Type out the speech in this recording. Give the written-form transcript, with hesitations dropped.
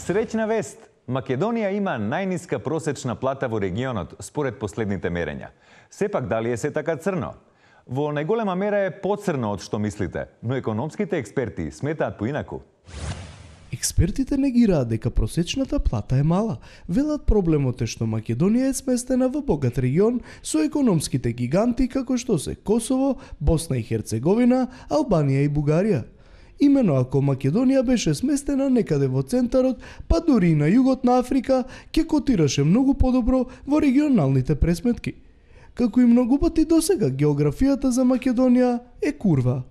Среќна вест! Македонија има најниска просечна плата во регионот, според последните мерења. Сепак, дали е се така црно? Во најголема мера е поцрно од што мислите, но економските експерти сметаат поинаку. Експертите негираат дека просечната плата е мала. Велат проблемот е што Македонија е сместена во богат регион со економските гиганти како што се Косово, Босна и Херцеговина, Албанија и Бугарија. Имено ако Македонија беше сместена некаде во центарот, па дури и на југот на Африка, ќе котираше многу подобро во регионалните пресметки. Како и многу пати досега, географијата за Македонија е курва.